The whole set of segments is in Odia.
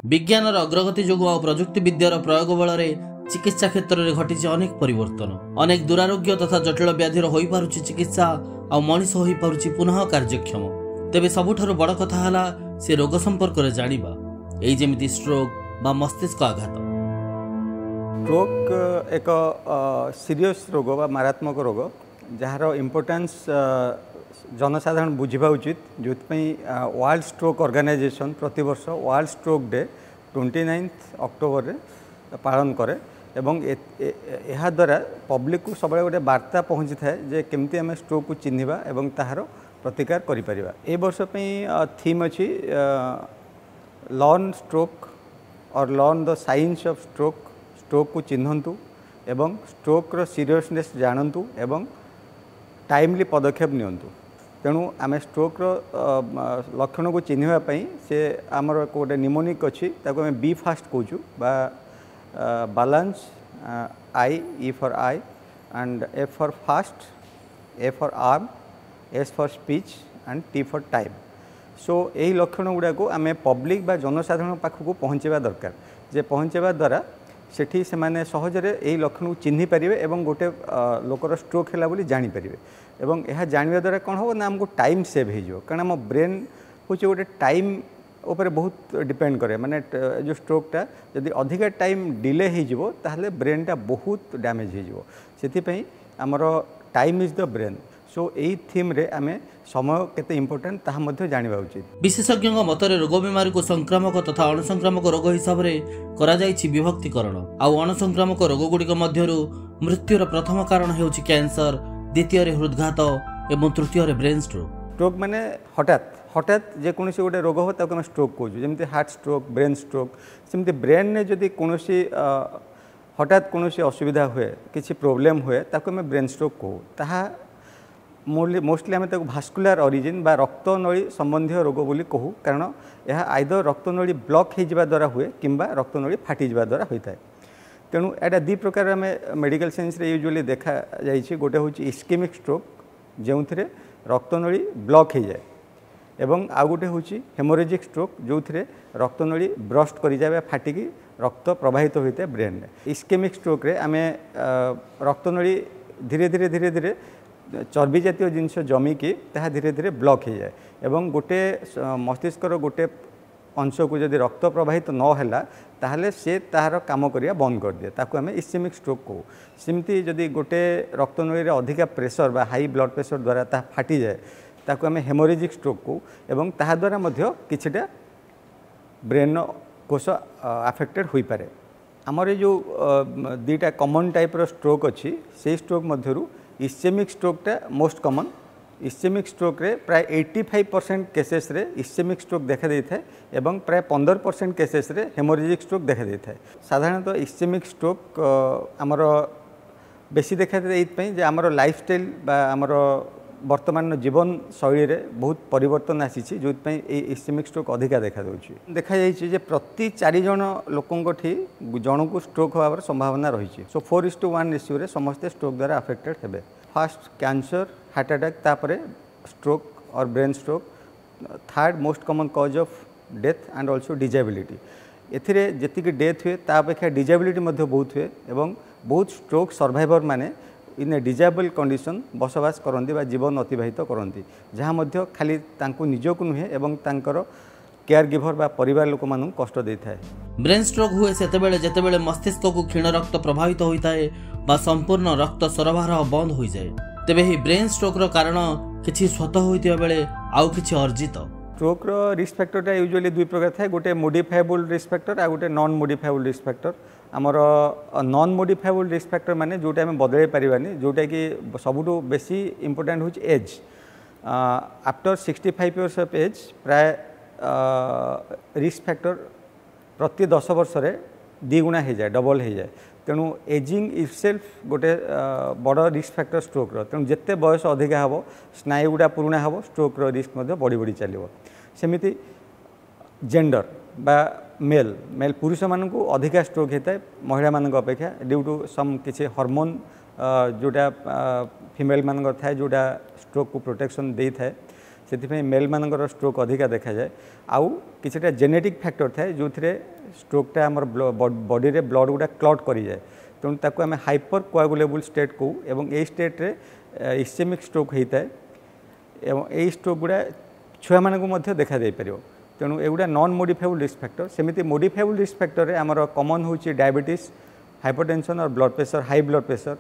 ବିଜ୍ଞାନର ଅଗ୍ରଗତି ଯୋଗୁଁ ଆଉ ପ୍ରଯୁକ୍ତି ବିଦ୍ୟାର ପ୍ରୟୋଗ ବଳରେ ଚିକିତ୍ସା କ୍ଷେତ୍ରରେ ଘଟିଛି ଅନେକ ପରିବର୍ତ୍ତନ। ଅନେକ ଦୁରାରୋଗ୍ୟ ତଥା ଜଟିଳ ବ୍ୟାଧିର ହୋଇପାରୁଛି ଚିକିତ୍ସା ଆଉ ମଣିଷ ହୋଇପାରୁଛି ପୁନଃ କାର୍ଯ୍ୟକ୍ଷମ। ତେବେ ସବୁଠାରୁ ବଡ଼ କଥା ହେଲା ସେ ରୋଗ ସମ୍ପର୍କରେ ଜାଣିବା, ଏଇ ଯେମିତି ଷ୍ଟ୍ରୋକ୍ ବା ମସ୍ତିଷ୍କ ଆଘାତ। ଷ୍ଟ୍ରୋକ୍ ଏକ ସିରିୟସ୍ ରୋଗ ବା ମାରାତ୍ମକ ରୋଗ, ଯାହାର ଇମ୍ପୋର୍ଟାନ୍ସ ଜନସାଧାରଣ ବୁଝିବା ଉଚିତ। ଯେଉଁଥିପାଇଁ ୱାର୍ଲଡ ଷ୍ଟ୍ରୋକ୍ ଅର୍ଗାନାଇଜେସନ୍ ପ୍ରତିବର୍ଷ ୱାର୍ଲଡ ଷ୍ଟ୍ରୋକ୍ ଡେ 29 ଅକ୍ଟୋବରରେ ପାଳନ କରେ ଏବଂ ଏହାଦ୍ୱାରା ପବ୍ଲିକକୁ ସବୁବେଳେ ଗୋଟେ ବାର୍ତ୍ତା ପହଞ୍ଚିଥାଏ ଯେ କେମିତି ଆମେ ଷ୍ଟ୍ରୋକ୍କୁ ଚିହ୍ନିବା ଏବଂ ତାହାର ପ୍ରତିକାର କରିପାରିବା। ଏ ବର୍ଷ ପାଇଁ ଥିମ୍ ଅଛି learn stroke or learn the science of stroke. ଷ୍ଟ୍ରୋକ୍କୁ ଚିହ୍ନନ୍ତୁ ଏବଂ ଷ୍ଟ୍ରୋକ୍ର ସିରିୟସନେସ୍ ଜାଣନ୍ତୁ ଏବଂ ଟାଇମଲି ପଦକ୍ଷେପ ନିଅନ୍ତୁ। ତେଣୁ ଆମେ ଷ୍ଟ୍ରୋକ୍ର ଲକ୍ଷଣକୁ ଚିହ୍ନିବା ପାଇଁ ସେ ଆମର ଗୋଟେ ନିମୋନିକ୍ ଅଛି, ତାକୁ ଆମେ ବି ଫାଷ୍ଟ କହୁଛୁ ବା balance, I, E for eye and F for fast, A for arm, S for speech and T for time. So ଏହି ଲକ୍ଷଣ ଗୁଡ଼ାକୁ ଆମେ ପବ୍ଲିକ୍ ବା ଜନସାଧାରଣ ପାଖକୁ ପହଞ୍ଚାଇବା ଦରକାର, ଯେ ପହଞ୍ଚାଇବା ଦ୍ୱାରା ସେଠି ସେମାନେ ସହଜରେ ଏହି ଲକ୍ଷଣକୁ ଚିହ୍ନି ପାରିବେ ଏବଂ ଗୋଟେ ଲୋକର ଷ୍ଟ୍ରୋକ୍ ହେଲା ବୋଲି ଜାଣିପାରିବେ। ଏବଂ ଏହା ଜାଣିବା ଦ୍ୱାରା କ'ଣ ହେବ ନା ଆମକୁ ଟାଇମ୍ ସେଭ୍ ହେଇଯିବ, କାରଣ ଆମ ବ୍ରେନ୍ ହେଉଛି ଗୋଟେ ଟାଇମ୍ ଉପରେ ବହୁତ ଡିପେଣ୍ଡ କରେ। ମାନେ ଯେଉଁ ଷ୍ଟ୍ରୋକ୍ଟା ଯଦି ଅଧିକା ଟାଇମ୍ ଡିଲେ ହେଇଯିବ ତାହେଲେ ବ୍ରେନ୍ଟା ବହୁତ ଡ୍ୟାମେଜ୍ ହେଇଯିବ। ସେଥିପାଇଁ ଆମର time is the brain. So ଏଇ ଥିମ୍ରେ ଆମେ ସମୟ କେତେ ଇମ୍ପୋର୍ଟାଣ୍ଟ ତାହା ମଧ୍ୟ ଜାଣିବା ଉଚିତ। ବିଶେଷଜ୍ଞଙ୍କ ମତରେ ରୋଗ ବେମାରୀକୁ ସଂକ୍ରାମକ ତଥା ଅଣସଂକ୍ରାମକ ରୋଗ ହିସାବରେ କରାଯାଇଛି ବିଭକ୍ତିକରଣ। ଆଉ ଅଣସଂକ୍ରାମକ ରୋଗଗୁଡ଼ିକ ମଧ୍ୟରୁ ମୃତ୍ୟୁର ପ୍ରଥମ କାରଣ ହେଉଛି କ୍ୟାନ୍ସର, ଦ୍ୱିତୀୟରେ ହୃଦଘାତ ଏବଂ ତୃତୀୟରେ ବ୍ରେନ୍ ଷ୍ଟ୍ରୋକ୍। ଷ୍ଟ୍ରୋକ୍ ମାନେ ହଠାତ୍ ହଠାତ୍ ଯେକୌଣସି ଗୋଟେ ରୋଗ ହେବ ତାକୁ ଆମେ ଷ୍ଟ୍ରୋକ୍ କହୁଛୁ, ଯେମିତି ହାର୍ଟ ଷ୍ଟ୍ରୋକ୍, ବ୍ରେନ୍ ଷ୍ଟ୍ରୋକ୍। ସେମିତି ବ୍ରେନ୍ରେ ଯଦି କୌଣସି ହଠାତ୍ କୌଣସି ଅସୁବିଧା ହୁଏ, କିଛି ପ୍ରୋବ୍ଲେମ୍ ହୁଏ, ତାକୁ ଆମେ ବ୍ରେନ୍ ଷ୍ଟ୍ରୋକ୍ କହୁ। ତାହା ମୋଷ୍ଟଲି ଆମେ ତାକୁ ଭାସ୍କୁଲାର ଅରିଜିନ୍ ବା ରକ୍ତନଳୀ ସମ୍ବନ୍ଧୀୟ ରୋଗ ବୋଲି କହୁ, କାରଣ ଏହା ଆଇଦର ରକ୍ତନଳୀ ବ୍ଲକ୍ ହେଇଯିବା ଦ୍ୱାରା ହୁଏ କିମ୍ବା ରକ୍ତନଳୀ ଫାଟିଯିବା ଦ୍ୱାରା ହୋଇଥାଏ। ତେଣୁ ଏଇଟା ଦୁଇ ପ୍ରକାର ଆମେ ମେଡ଼ିକାଲ ସାଇନ୍ସରେ ୟୁଜୁଆଲି ଦେଖାଯାଇଛି। ଗୋଟେ ହେଉଛି ଇସ୍କେମିକ୍ ଷ୍ଟ୍ରୋକ୍, ଯେଉଁଥିରେ ରକ୍ତନଳୀ ବ୍ଲକ୍ ହେଇଯାଏ, ଏବଂ ଆଉ ଗୋଟେ ହେଉଛି ହେମୋରେଜିକ୍ ଷ୍ଟ୍ରୋକ୍, ଯେଉଁଥିରେ ରକ୍ତନଳୀ ବ୍ରଷ୍ଟ କରିଯାଏ ବା ଫାଟିକି ରକ୍ତ ପ୍ରବାହିତ ହୋଇଥାଏ ବ୍ରେନ୍ରେ। ଇସ୍କେମିକ୍ ଷ୍ଟ୍ରୋକ୍ରେ ଆମେ ରକ୍ତନଳୀ ଧୀରେ ଧୀରେ ଧୀରେ ଧୀରେ ଚର୍ବି ଜାତୀୟ ଜିନିଷ ଜମିକି ତାହା ଧୀରେ ଧୀରେ ବ୍ଲକ୍ ହେଇଯାଏ ଏବଂ ଗୋଟେ ମସ୍ତିଷ୍କର ଗୋଟେ ଅଂଶକୁ ଯଦି ରକ୍ତ ପ୍ରବାହିତ ନ ହେଲା ତାହେଲେ ସେ ତାହାର କାମ କରିବା ବନ୍ଦ କରିଦିଏ, ତାକୁ ଆମେ ଇସ୍କେମିକ୍ ଷ୍ଟ୍ରୋକ୍ କହୁ। ସେମିତି ଯଦି ଗୋଟେ ରକ୍ତନଳୀରେ ଅଧିକା ପ୍ରେସର ବା ହାଇ ବ୍ଲଡ଼ ପ୍ରେସର ଦ୍ୱାରା ତାହା ଫାଟିଯାଏ, ତାକୁ ଆମେ ହେମୋରେଜିକ୍ ଷ୍ଟ୍ରୋକ୍ କହୁ ଏବଂ ତାହା ଦ୍ୱାରା ମଧ୍ୟ କିଛିଟା ବ୍ରେନ୍ର କୋଷ ଆଫେକ୍ଟେଡ଼ ହୋଇପାରେ। ଆମର ଏ ଯେଉଁ ଦୁଇଟା କମନ୍ ଟାଇପ୍ର ଷ୍ଟ୍ରୋକ୍ ଅଛି, ସେଇ ଷ୍ଟ୍ରୋକ୍ ମଧ୍ୟରୁ ଇସ୍କେମିକ୍ ଷ୍ଟ୍ରୋକ୍ଟା ମୋଷ୍ଟ କମନ୍। ଇସ୍କେମିକ୍ ଷ୍ଟ୍ରୋକ୍ରେ ପ୍ରାୟ 85% କେସେସ୍ରେ ଇସ୍କେମିକ୍ ଷ୍ଟ୍ରୋକ୍ ଦେଖାଦେଇଥାଏ ଏବଂ ପ୍ରାୟ 15% କେସେସ୍ରେ ହେମୋରେଜିକ୍ ଷ୍ଟ୍ରୋକ୍ ଦେଖାଦେଇଥାଏ। ସାଧାରଣତଃ ଇସ୍କେମିକ୍ ଷ୍ଟ୍ରୋକ୍ ଆମର ବେଶୀ ଦେଖାଦିଏ ଏଇଥିପାଇଁ ଯେ ଆମର ଲାଇଫଷ୍ଟାଇଲ୍ ବା ଆମର ବର୍ତ୍ତମାନର ଜୀବନଶୈଳୀରେ ବହୁତ ପରିବର୍ତ୍ତନ ଆସିଛି, ଯେଉଁଥିପାଇଁ ଏଇ ଇସ୍କେମିକ୍ ଷ୍ଟ୍ରୋକ୍ ଅଧିକା ଦେଖାଦେଉଛି। ଦେଖାଯାଇଛି ଯେ ପ୍ରତି 4 ଜଣ ଲୋକଙ୍କଠି ଜଣକୁ ଷ୍ଟ୍ରୋକ୍ ହେବାର ସମ୍ଭାବନା ରହିଛି। ସୋ 4:1 ରେସିଓରେ ସମସ୍ତେ ଷ୍ଟ୍ରୋକ୍ ଦ୍ୱାରା ଆଫେକ୍ଟେଡ଼ ହେବେ। ଫାର୍ଷ୍ଟ କ୍ୟାନ୍ସର, ହାର୍ଟ ଆଟାକ୍, ତାପରେ stroke or brain stroke, third most common cause of death and also disability. ଏଥିରେ ଯେତିକି ଡେଥ୍ ହୁଏ ତା ଅପେକ୍ଷା ଡିଜାବିଲିଟି ମଧ୍ୟ ବହୁତ ହୁଏ ଏବଂ ବହୁତ ଷ୍ଟ୍ରୋକ୍ ସର୍ଭାଇଭର ମାନେ ଇନ୍ ଏ ଡିଜାବଲ୍ କଣ୍ଡିସନ୍ ବସବାସ କରନ୍ତି ବା ଜୀବନ ଅତିବାହିତ କରନ୍ତି, ଯାହା ମଧ୍ୟ ଖାଲି ତାଙ୍କୁ ନିଜକୁ ନୁହେଁ ଏବଂ ତାଙ୍କର କେୟାର ଗିଭର ବା ପରିବାର ଲୋକମାନଙ୍କୁ କଷ୍ଟ ଦେଇଥାଏ। ବ୍ରେନ୍ ଷ୍ଟ୍ରୋକ୍ ହୁଏ ସେତେବେଳେ ଯେତେବେଳେ ମସ୍ତିଷ୍କକୁ କ୍ଷୀଣ ରକ୍ତ ପ୍ରବାହିତ ହୋଇଥାଏ ବା ସମ୍ପୂର୍ଣ୍ଣ ରକ୍ତ ସରବରାହ ବନ୍ଦ ହୋଇଯାଏ। ତେବେ ଏହି ବ୍ରେନ୍ ଷ୍ଟ୍ରୋକ୍ର କାରଣ କିଛି ସ୍ୱତଃ ହୋଇଥିବା ବେଳେ ଆଉ କିଛି ଅର୍ଜିତ। ଷ୍ଟ୍ରୋକ୍ର ରିସ୍କ ଫ୍ୟାକ୍ଟରଟା ୟୁଜୁଆଲି ଦୁଇ ପ୍ରକାର ଥାଏ, ଗୋଟେ ମୋଡିଫାଏବୁଲ୍ ରିସ୍କ ଫ୍ୟାକ୍ଟର ଆଉ ଗୋଟେ ନନ୍ ମୋଡିଫାଏବୁଲ୍ ରିସ୍କ ଫ୍ୟାକ୍ଟର। ଆମର ନନ୍ ମୋଡିଫାଏବୁଲ୍ ରିସ୍କ ଫ୍ୟାକ୍ଟର ମାନେ ଯେଉଁଟା ଆମେ ବଦଳାଇ ପାରିବାନି, ଯେଉଁଟାକି ସବୁଠୁ ବେଶୀ ଇମ୍ପୋର୍ଟାଣ୍ଟ ହେଉଛି age. After 65 years of age ପ୍ରାୟ ରିସ୍କ ଫ୍ୟାକ୍ଟର ପ୍ରତି 10 ବର୍ଷରେ ଦ୍ୱିଗୁଣା ହେଇଯାଏ, ଡବଲ୍ ହେଇଯାଏ। ତେଣୁ ଏଜିଂ ଇଟସେଲ୍ଫ ଗୋଟେ ବଡ଼ ରିସ୍କ ଫ୍ୟାକ୍ଟର ଷ୍ଟ୍ରୋକ୍ର। ତେଣୁ ଯେତେ ବୟସ ଅଧିକା ହେବ, ସ୍ନାୟୁ ଗୁଡ଼ା ପୁରୁଣା ହେବ, ଷ୍ଟ୍ରୋକ୍ର ରିସ୍କ ମଧ୍ୟ ବଢ଼ି ବଢ଼ି ଚାଲିବ। ସେମିତି ଜେଣ୍ଡର ବା ମେଲ୍, ମେଲ୍ ପୁରୁଷମାନଙ୍କୁ ଅଧିକା ଷ୍ଟ୍ରୋକ୍ ହେଇଥାଏ ମହିଳାମାନଙ୍କ ଅପେକ୍ଷା, ଡ୍ୟୁ ଟୁ ସମ୍ କିଛି ହରମୋନ୍ ଯେଉଁଟା ଫିମେଲ୍ମାନଙ୍କର ଥାଏ, ଯେଉଁଟା ଷ୍ଟ୍ରୋକ୍କୁ ପ୍ରୋଟେକ୍ସନ୍ ଦେଇଥାଏ। ସେଥିପାଇଁ ମେଲ୍ମାନଙ୍କର ଷ୍ଟ୍ରୋକ୍ ଅଧିକା ଦେଖାଯାଏ। ଆଉ କିଛିଟା ଜେନେଟିକ୍ ଫ୍ୟାକ୍ଟର ଥାଏ ଯେଉଁଥିରେ ଷ୍ଟ୍ରୋକ୍ଟା ଆମର ବଡ଼ିରେ ବ୍ଲଡ଼ ଗୁଡ଼ା କ୍ଲଟ୍ କରିଯାଏ, ତେଣୁ ତାକୁ ଆମେ ହାଇପର କୋଆଗୁଲେବୁଲ୍ ଷ୍ଟେଟ୍ କହୁ ଏବଂ ଏଇ ଷ୍ଟେଟ୍ରେ ଇସ୍ଚେମିକ୍ ଷ୍ଟ୍ରୋକ୍ ହେଇଥାଏ ଏବଂ ଏଇ ଷ୍ଟ୍ରୋକ୍ ଗୁଡ଼ା ଛୁଆମାନଙ୍କୁ ମଧ୍ୟ ଦେଖାଯାଇପାରିବ। ତେଣୁ ଏଗୁଡ଼ା ନନ୍ ମୋଡ଼ିଫାଏବୁଲ୍ ରିସ୍କ ଫ୍ୟାକ୍ଟର। ସେମିତି ମୋଡ଼ିଫାଏବୁଲ୍ ରିସ୍କ ଫ୍ୟାକ୍ଟରରେ ଆମର କମନ୍ ହେଉଛି ଡାଇବେଟିସ୍, ହାଇପରଟେନସନ୍ ଆଉ blood pressure, high blood pressure,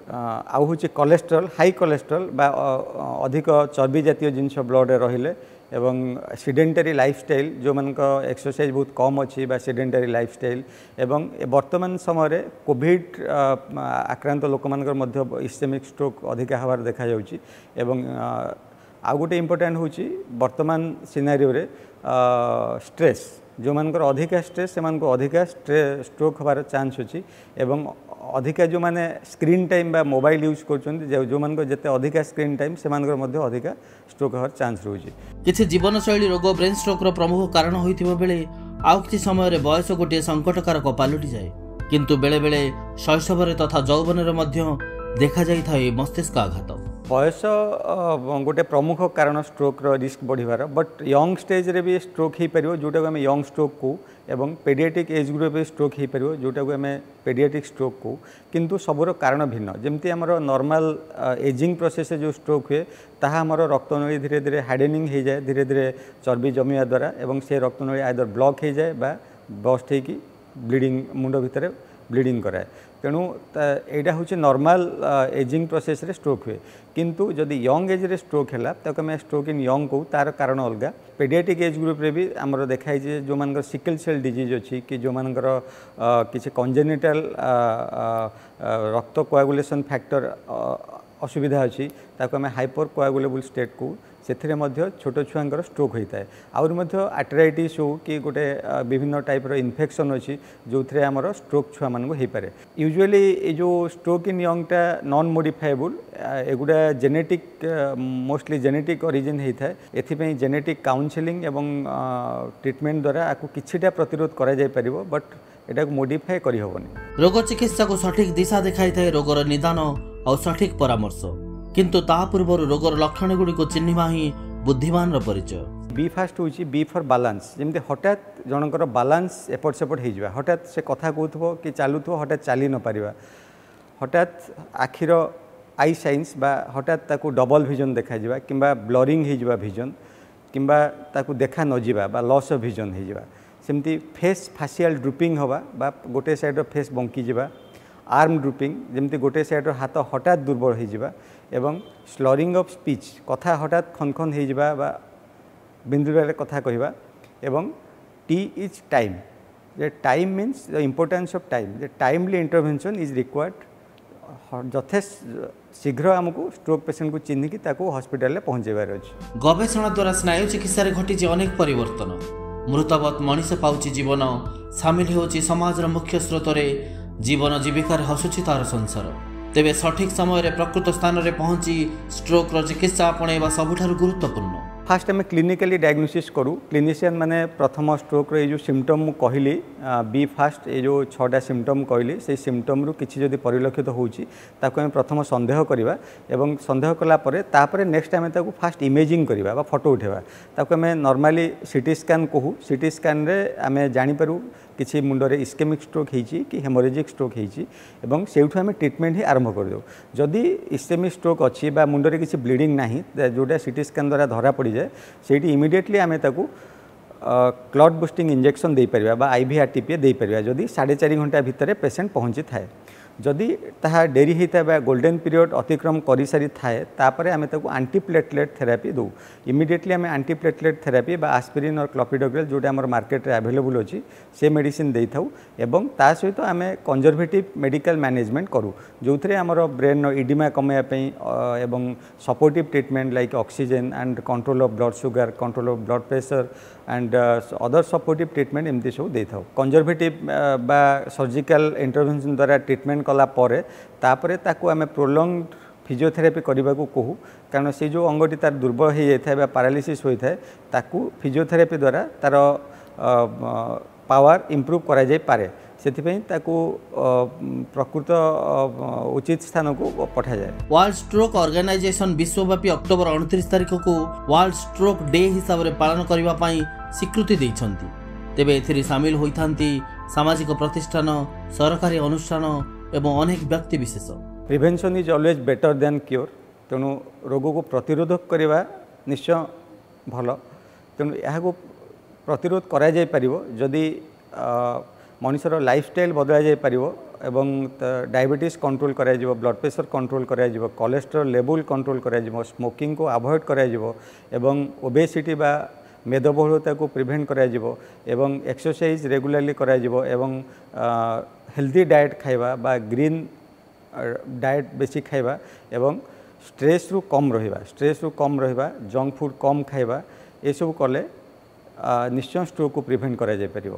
ଆଉ ହେଉଛି କୋଲେଷ୍ଟ୍ରଲ୍, ହାଇ କୋଲେଷ୍ଟ୍ରଲ୍ ବା ଅଧିକ ଚର୍ବି ଜାତୀୟ ଜିନିଷ ବ୍ଲଡ଼ରେ ରହିଲେ ଏବଂ ସିଡେଣ୍ଟାରୀ ଲାଇଫଷ୍ଟାଇଲ୍, ଯେଉଁମାନଙ୍କ ଏକ୍ସରସାଇଜ୍ ବହୁତ କମ୍ ଅଛି ବା ସିଡେଣ୍ଟାରୀ ଲାଇଫଷ୍ଟାଇଲ୍, ଏବଂ ବର୍ତ୍ତମାନ ସମୟରେ କୋଭିଡ଼ ଆକ୍ରାନ୍ତ ଲୋକମାନଙ୍କର ମଧ୍ୟ ଇସ୍ଚେମିକ୍ ଷ୍ଟ୍ରୋକ୍ ଅଧିକା ହେବାର ଦେଖାଯାଉଛି। ଏବଂ ଆଉ ଗୋଟେ ଇମ୍ପୋର୍ଟାଣ୍ଟ ହେଉଛି ବର୍ତ୍ତମାନ ସିନାରିଓରେ ଷ୍ଟ୍ରେସ୍, ଯେଉଁମାନଙ୍କର ଅଧିକା ଷ୍ଟ୍ରେସ୍ ସେମାନଙ୍କୁ ଅଧିକା ଷ୍ଟ୍ରୋକ୍ ହେବାର ଚାନ୍ସ ଅଛି ଏବଂ ଅଧିକା ଯେଉଁମାନେ ସ୍କ୍ରିନ୍ ଟାଇମ୍ ବା ମୋବାଇଲ୍ ୟୁଜ୍ କରୁଛନ୍ତି, ଯେଉଁମାନଙ୍କର ଯେତେ ଅଧିକା ସ୍କ୍ରିନ୍ ଟାଇମ୍ ସେମାନଙ୍କର ମଧ୍ୟ ଅଧିକା ଷ୍ଟ୍ରୋକ୍ ହେବାର ଚାନ୍ସ ରହୁଛି। କିଛି ଜୀବନଶୈଳୀ ରୋଗ ବ୍ରେନ୍ ଷ୍ଟ୍ରୋକ୍ର ପ୍ରମୁଖ କାରଣ ହୋଇଥିବା ବେଳେ ଆଉ କିଛି ସମୟରେ ବୟସ ଗୋଟିଏ ସଙ୍କଟକାରକ ପାଲଟିଯାଏ। କିନ୍ତୁ ବେଳେବେଳେ ଶୈଶବରେ ତଥା ଯୌବନରେ ମଧ୍ୟ ଦେଖାଯାଇଥାଏ ମସ୍ତିଷ୍କ ଆଘାତ। ବୟସ ଗୋଟେ ପ୍ରମୁଖ କାରଣ ଷ୍ଟ୍ରୋକ୍ର ରିସ୍କ ବଢ଼ିବାର, ବଟ୍ ୟଙ୍ଗ ଷ୍ଟେଜ୍ରେ ବି ଷ୍ଟ୍ରୋକ୍ ହେଇପାରିବ ଯେଉଁଟାକୁ ଆମେ ୟଙ୍ଗ ଷ୍ଟ୍ରୋକ୍ କହୁ, ଏବଂ ପେଡ଼ିଆଟ୍ରିକ୍ ଏଜ୍ ଗ୍ରୁପ୍ରେ ବି ଷ୍ଟ୍ରୋକ୍ ହେଇପାରିବ ଯେଉଁଟାକୁ ଆମେ ପେଡ଼ିଆଟ୍ରିକ୍ ଷ୍ଟ୍ରୋକ୍ କହୁ। କିନ୍ତୁ ସବୁର କାରଣ ଭିନ୍ନ। ଯେମିତି ଆମର ନର୍ମାଲ ଏଜିଂ ପ୍ରୋସେସ୍ରେ ଯେଉଁ ଷ୍ଟ୍ରୋକ୍ ହୁଏ ତାହା ଆମର ରକ୍ତନଳୀ ଧୀରେ ଧୀରେ ହାର୍ଡେନିଂ ହେଇଯାଏ, ଧୀରେ ଧୀରେ ଚର୍ବି ଜମିବା ଦ୍ୱାରା, ଏବଂ ସେ ରକ୍ତନଳୀ ଆଇଦର ବ୍ଲକ୍ ହେଇଯାଏ ବା ବଷ୍ଟ ହେଇକି ବ୍ଲିଡ଼ିଂ, ମୁଣ୍ଡ ଭିତରେ ବ୍ଲିଡ଼ିଂ କରାଏ। ତେଣୁ ଏଇଟା ହେଉଛି ନର୍ମାଲ ଏଜିଂ ପ୍ରୋସେସ୍ରେ ଷ୍ଟ୍ରୋକ୍ ହୁଏ। କିନ୍ତୁ ଯଦି ୟଙ୍ଗ ଏଜ୍ରେ ଷ୍ଟ୍ରୋକ୍ ହେଲା ତାକୁ ଆମେ ଷ୍ଟ୍ରୋକ୍ ଇନ୍ ୟଙ୍ଗ କହୁ, ତା'ର କାରଣ ଅଲଗା। ପେଡ଼ିଆଟ୍ରିକ୍ ଏଜ୍ ଗ୍ରୁପ୍ରେ ବି ଆମର ଦେଖାହେଇଛି ଯେ ଯେଉଁମାନଙ୍କର ସିକଲ୍ ସେଲ୍ ଡିଜିଜ୍ ଅଛି କି ଯେଉଁମାନଙ୍କର କିଛି କଞ୍ଜେନିଟାଲ ରକ୍ତ କୋଆଗୁଲେସନ୍ ଫ୍ୟାକ୍ଟର ଅସୁବିଧା ଅଛି, ତାକୁ ଆମେ ହାଇପର କୋଆଗୁଲେବୁଲ୍ ଷ୍ଟେଟ୍ କହୁ, ସେଥିରେ ମଧ୍ୟ ଛୋଟ ଛୁଆଙ୍କର ଷ୍ଟ୍ରୋକ୍ ହୋଇଥାଏ। ଆହୁରି ମଧ୍ୟ ଆର୍ଥରାଇଟିସ୍ ହେଉ କି ଗୋଟେ ବିଭିନ୍ନ ଟାଇପ୍ର ଇନଫେକ୍ସନ୍ ଅଛି ଯେଉଁଥିରେ ଆମର ଷ୍ଟ୍ରୋକ୍ ଛୁଆମାନଙ୍କୁ ହେଇପାରେ। ୟୁଜୁଆଲି ଏ ଯେଉଁ ଷ୍ଟ୍ରୋକ୍ ଇନ୍ ୟଙ୍ଗଟା ନନ୍ ମୋଡ଼ିଫାଏବୁଲ୍, ଏଗୁଡ଼ା ଜେନେଟିକ୍, ମୋଷ୍ଟଲି ଜେନେଟିକ୍ ଅରିଜିନ୍ ହେଇଥାଏ। ଏଥିପାଇଁ ଜେନେଟିକ୍ କାଉନସେଲିଂ ଏବଂ ଟ୍ରିଟମେଣ୍ଟ ଦ୍ୱାରା ଆକୁ କିଛିଟା ପ୍ରତିରୋଧ କରାଯାଇପାରିବ, ବଟ୍ ଏଟାକୁ ମୋଡ଼ିଫାଏ କରିହେବନି। ରୋଗ ଚିକିତ୍ସାକୁ ସଠିକ୍ ଦିଶା ଦେଖାଇଥାଏ ରୋଗର ନିଦାନ ଆଉ ସଠିକ୍ ପରାମର୍ଶ, କିନ୍ତୁ ତା ପୂର୍ବରୁ ରୋଗର ଲକ୍ଷଣଗୁଡ଼ିକୁ ଚିହ୍ନିବା ହିଁ ବୁଦ୍ଧିମାନର ପରିଚୟ। ବି ଫାଷ୍ଟ ହେଉଛି ବି ଫର୍ ବାଲାନ୍ସ। ଯେମିତି ହଠାତ୍ ଜଣଙ୍କର ବାଲାନ୍ସ ଏପଟ ସେପଟ ହେଇଯିବା, ହଠାତ୍ ସେ କଥା କହୁଥିବ କି ଚାଲୁଥିବ ହଠାତ୍ ଚାଲି ନପାରିବା, ହଠାତ୍ ଆଖିର I science ବା ହଠାତ୍ ତାକୁ ଡବଲ୍ ଭିଜନ୍ ଦେଖାଯିବା କିମ୍ବା ବ୍ଲରିଂ ହେଇଯିବା ଭିଜନ୍, କିମ୍ବା ତାକୁ ଦେଖା ନଯିବା ବା ଲସ୍ ଅଫ୍ ଭିଜନ୍ ହେଇଯିବା, ସେମିତି ଫେସ୍ ଫାସିଆଲ୍ ଡ୍ରୁପିଂ ହେବା ବା ଗୋଟେ ସାଇଡ଼୍ର ଫେସ୍ ବଙ୍କିଯିବା, ଆର୍ମ ଡ୍ରୁପିଂ ଯେମିତି ଗୋଟେ ସାଇଡ଼୍ର ହାତ ହଠାତ୍ ଦୁର୍ବଳ ହେଇଯିବା, ଏବଂ ସ୍ଲରିଂ ଅଫ୍ ସ୍ପିଚ୍ କଥା ହଠାତ୍ ଖନଖନ ହେଇଯିବା ବା ବିନ୍ଦୁରେ କଥା କହିବା, ଏବଂ ଟି is time, ଯେ time means the importance of time, ଯେ ଟାଇମଲି ଇଣ୍ଟରଭେନସନ୍ is required. ଯଥେଷ୍ଟ ଶୀଘ୍ର ଆମକୁ ଷ୍ଟ୍ରୋକ୍ ପେସେଣ୍ଟକୁ ଚିହ୍ନିକି ତାକୁ ହସ୍ପିଟାଲରେ ପହଞ୍ଚାଇବାର ଅଛି। ଗବେଷଣା ଦ୍ୱାରା ସ୍ନାୟୁ ଚିକିତ୍ସାରେ ଘଟିଛି ଅନେକ ପରିବର୍ତ୍ତନ। ମୃତବତ୍ ମଣିଷ ପାଉଛି ଜୀବନ, ସାମିଲ ହେଉଛି ସମାଜର ମୁଖ୍ୟ ସ୍ରୋତରେ, ଜୀବନ ଜୀବିକାରେ ହସୁଛି ତାର ସଂସାର। ତେବେ ସଠିକ୍ ସମୟରେ ପ୍ରକୃତ ସ୍ଥାନରେ ପହଞ୍ଚି ଷ୍ଟ୍ରୋକ୍ର ଚିକିତ୍ସା ଆପଣେଇବା ସବୁଠାରୁ ଗୁରୁତ୍ୱପୂର୍ଣ୍ଣ। ଫାଷ୍ଟ ଆମେ କ୍ଲିନିକାଲି ଡାଇଗ୍ନୋସିସ୍ କରୁ। କ୍ଲିନିସିଆନ୍ ମାନେ ପ୍ରଥମ ଷ୍ଟ୍ରୋକ୍ର ଏଇ ଯେଉଁ ସିମ୍ପଟମ୍ ମୁଁ କହିଲି, ବି ଫାଷ୍ଟ ଏଇ ଯେଉଁ 6ଟା ସିମ୍ପଟମ୍ କହିଲି, ସେଇ ସିମ୍ପଟମ୍ରୁ କିଛି ଯଦି ପରିଲକ୍ଷିତ ହେଉଛି ତାକୁ ଆମେ ପ୍ରଥମ ସନ୍ଦେହ କରିବା, ଏବଂ ସନ୍ଦେହ କଲା ପରେ ତାପରେ ନେକ୍ସଟ ଆମେ ତାକୁ ଫାଷ୍ଟ ଇମେଜିଂ କରିବା ବା ଫଟୋ ଉଠାଇବା। ତାକୁ ଆମେ ନର୍ମାଲି ସିଟି ସ୍କାନ୍ କହୁ। ସିଟି ସ୍କାନ୍ରେ ଆମେ ଜାଣିପାରୁ କିଛି ମୁଣ୍ଡରେ ଇସ୍କେମିକ୍ ଷ୍ଟ୍ରୋକ୍ ହେଇଛି କି ହେମୋରେଜିକ୍ ଷ୍ଟ୍ରୋକ୍ ହେଇଛି, ଏବଂ ସେଇଠୁ ଆମେ ଟ୍ରିଟମେଣ୍ଟ ହିଁ ଆରମ୍ଭ କରିଦେଉ। ଯଦି ଇସ୍କେମିକ୍ ଷ୍ଟ୍ରୋକ୍ ଅଛି ବା ମୁଣ୍ଡରେ କିଛି ବ୍ଲିଡ଼ିଂ ନାହିଁ, ଯେଉଁଟା ସିଟି ସ୍କାନ୍ ଦ୍ୱାରା ଧରା ପଡ଼ିଯାଏ, ସେଇଠି ଇମିଡ଼ିଏଟଲି ଆମେ ତାକୁ କ୍ଲଟ୍ ବୁଷ୍ଟିଂ ଇଞ୍ଜେକ୍ସନ୍ ଦେଇପାରିବା ବା IVRTPA ଦେଇପାରିବା ଯଦି 4.5 ଘଣ୍ଟା ଭିତରେ ପେସେଣ୍ଟ ପହଞ୍ଚିଥାଏ। ଯଦି ତାହା ଡେରି ହେଇଥାଏ ବା ଗୋଲ୍ଡେନ୍ ପିରିୟଡ଼ ଅତିକ୍ରମ କରିସାରିଥାଏ, ତାପରେ ଆମେ ତାକୁ ଆଣ୍ଟିପ୍ଲେଟଲେଟ୍ ଥେରାପି ଦେଉ। ଇମିଡ଼ିଏଟଲି ଆମେ ଆଣ୍ଟିପ୍ଲେଟଲେଟ୍ ଥେରାପି ବା ଆସ୍ପିରିନ୍ ଅର୍ କ୍ଲପିଡୋଗ୍ରେଲ୍ ଯେଉଁଟା ଆମର ମାର୍କେଟରେ ଆଭେଲେବୁଲ୍ ଅଛି ସେ ମେଡ଼ିସିନ୍ ଦେଇଥାଉ, ଏବଂ ତା ସହିତ ଆମେ କନଜରଭେଟିଭ୍ ମେଡ଼ିକାଲ ମ୍ୟାନେଜମେଣ୍ଟ କରୁ, ଯେଉଁଥିରେ ଆମର ବ୍ରେନ୍ର ଇଡିମା କମାଇବା ପାଇଁ ଏବଂ supportive treatment like oxygen and control of blood sugar, control of blood pressure and other supportive treatment ଏମିତି ସବୁ ଦେଇଥାଉ। କନଜରଭେଟିଭ୍ ବା ସର୍ଜିକାଲ ଇଣ୍ଟରଭେନସନ୍ ଦ୍ୱାରା ଟ୍ରିଟମେଣ୍ଟ କଲା ପରେ ତାପରେ ତାକୁ ଆମେ ପ୍ରୋଲଙ୍ଗ ଫିଜିଓଥେରାପି କରିବାକୁ କହୁ, କାରଣ ସେ ଯେଉଁ ଅଙ୍ଗଟି ତାର ଦୁର୍ବଳ ହୋଇଯାଇଥାଏ ବା ପାରାଲିସିସ୍ ହୋଇଥାଏ ତାକୁ ଫିଜିଓଥେରାପି ଦ୍ୱାରା ତାର ପାୱାର ଇମ୍ପ୍ରୁଭ୍ କରାଯାଇପାରେ। ସେଥିପାଇଁ ତାକୁ ପ୍ରକୃତ ଉଚିତ ସ୍ଥାନକୁ ପଠାଯାଏ। ୱାର୍ଲଡ ଷ୍ଟ୍ରୋକ୍ ଅର୍ଗାନାଇଜେସନ ବିଶ୍ୱବ୍ୟାପୀ ଅକ୍ଟୋବର 29 ତାରିଖକୁ ୱାର୍ଲଡ ଷ୍ଟ୍ରୋକ୍ ଡେ ହିସାବରେ ପାଳନ କରିବା ପାଇଁ ସ୍ୱୀକୃତି ଦେଇଛନ୍ତି। ତେବେ ଏଥିରେ ସାମିଲ ହୋଇଥାନ୍ତି ସାମାଜିକ ପ୍ରତିଷ୍ଠାନ, ସରକାରୀ ଅନୁଷ୍ଠାନ ଏବଂ ଅନେକ ବ୍ୟକ୍ତି ବିଶେଷ। Prevention is always better than cure। ତେଣୁ ରୋଗକୁ ପ୍ରତିରୋଧ କରିବା ନିଶ୍ଚୟ ଭଲ। ତେଣୁ ଏହାକୁ ପ୍ରତିରୋଧ କରାଯାଇପାରିବ ଯଦି ମଣିଷର ଲାଇଫଷ୍ଟାଇଲ୍ ବଦଳାଯାଇପାରିବ ଏବଂ ଡାଇବେଟିସ୍ କଣ୍ଟ୍ରୋଲ୍ କରାଯିବ, ବ୍ଲଡ଼ ପ୍ରେସର କଣ୍ଟ୍ରୋଲ୍ କରାଯିବ, କୋଲେଷ୍ଟ୍ରଲ୍ ଲେବୁଲ୍ କଣ୍ଟ୍ରୋଲ୍ କରାଯିବ, ସ୍ମୋକିଂକୁ ଆଭଏଡ଼ କରାଯିବ ଏବଂ ଓବେସିଟି ବା ମେଦବହୁଳତାକୁ ପ୍ରିଭେଣ୍ଟ କରାଯିବ ଏବଂ ଏକ୍ସରସାଇଜ୍ ରେଗୁଲାରଲି କରାଯିବ ଏବଂ ହେଲ୍ଦି ଡାଏଟ୍ ଖାଇବା ବା ଗ୍ରୀନ୍ ଡାଏଟ୍ ବେଶୀ ଖାଇବା ଏବଂ ଷ୍ଟ୍ରେସ୍ରୁ କମ୍ ରହିବା, ଜଙ୍କ ଫୁଡ଼୍ କମ୍ ଖାଇବା, ଏସବୁ କଲେ ନିଶ୍ଚୟ ଷ୍ଟ୍ରୋକ୍କୁ ପ୍ରିଭେଣ୍ଟ କରାଯାଇପାରିବ।